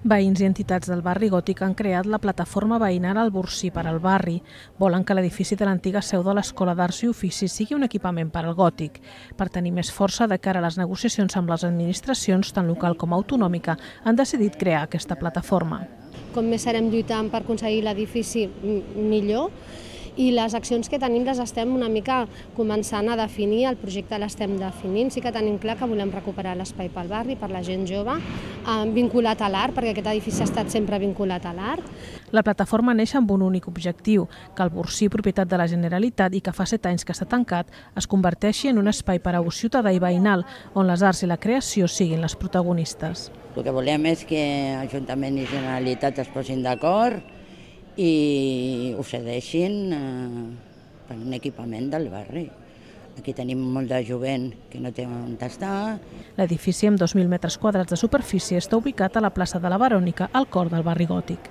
Veïns i entitats del barri gòtic han creat la plataforma veïnal Alborsí per al barri. Volen que l'edifici de l'antiga seu de l'Escola d'Arts i Oficis sigui un equipament per al gòtic. Per tenir més força de cara a les negociacions amb les administracions, tant local com autonòmica, han decidit crear aquesta plataforma. Com més serem lluitant per aconseguir l'edifici, millor. I les accions que tenim les estem una mica començant a definir, el projecte l'estem definint. Sí que tenim clar que volem recuperar l'espai pel barri, per la gent jove, vinculat a l'art, perquè aquest edifici ha estat sempre vinculat a l'art. La plataforma neix amb un únic objectiu, que el Borsí, propietat de la Generalitat i que fa 7 anys que està tancat, es converteixi en un espai per a ús ciutadà i veïnal, on les arts i la creació siguin les protagonistes. El que volem és que Ajuntament i Generalitat es posin d'acord i ho cedeixin per un equipament del barri. Aquí tenim molt de jovent que no té on estar. L'edifici, amb 2.000 metres quadrats de superfície, està ubicat a la plaça de la Verònica, al cor del barri gòtic.